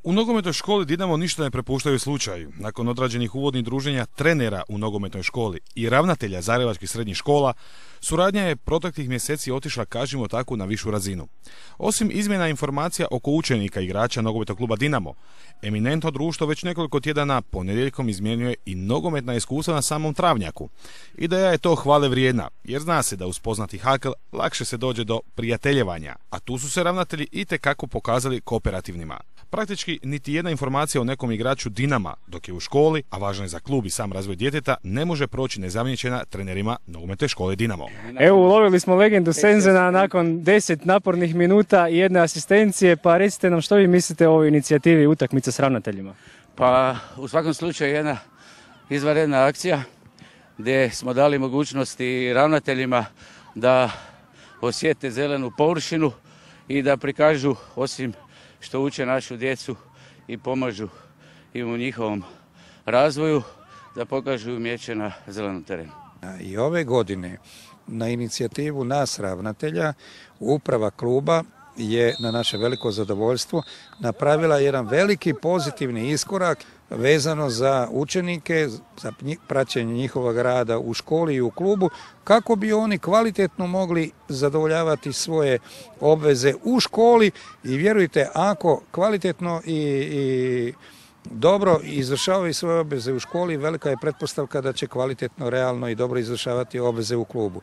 U nogometnoj školi Dinamo ništa ne prepuštaju slučaju. Nakon odrađenih uvodnih druženja trenera u nogometnoj školi i ravnatelja zagrebačkih srednjih škola, suradnja je proteklih mjeseci otišla, kažemo tako, na višu razinu. Osim izmjena informacija oko učenika igrača nogometnog kluba Dinamo, eminentno društvo već nekoliko tjedana ponedjeljkom izmjenjuje i nogometna iskustva na samom travnjaku. Ideja je to hvale vrijedna, jer zna se da uz poznati hakl lakše se dođe do prijateljevanja, a tu su se ravnatelji itekako pokazali kooperativnima. Praktički niti jedna informacija o nekom igraču Dinama dok je u školi, a važna je za klub i sam razvoj djeteta, ne može proći nezamijećena trenerima nogometne škole Dinamo. Evo, ulovili smo legendu Senzena nakon 10 napornih minuta i jedne asistencije, pa recite nam što vi mislite o ovoj inicijativi utakmice s ravnateljima? Pa u svakom slučaju jedna izvanredna akcija gdje smo dali mogućnosti ravnateljima da osjete zelenu površinu i da prikažu, osim što uče našu djecu i pomažu im u njihovom razvoju, da pokažu umijeće na zelenom terenu. I ove godine na inicijativu nas ravnatelja uprava kluba je na naše veliko zadovoljstvo napravila jedan veliki pozitivni iskorak vezano za učenike, za praćenje njihovog rada u školi i u klubu, kako bi oni kvalitetno mogli zadovoljavati svoje obveze u školi i vjerujte, ako kvalitetno i dobro izvršavaju svoje obveze u školi, velika je pretpostavka da će kvalitetno, realno i dobro izvršavati obveze u klubu.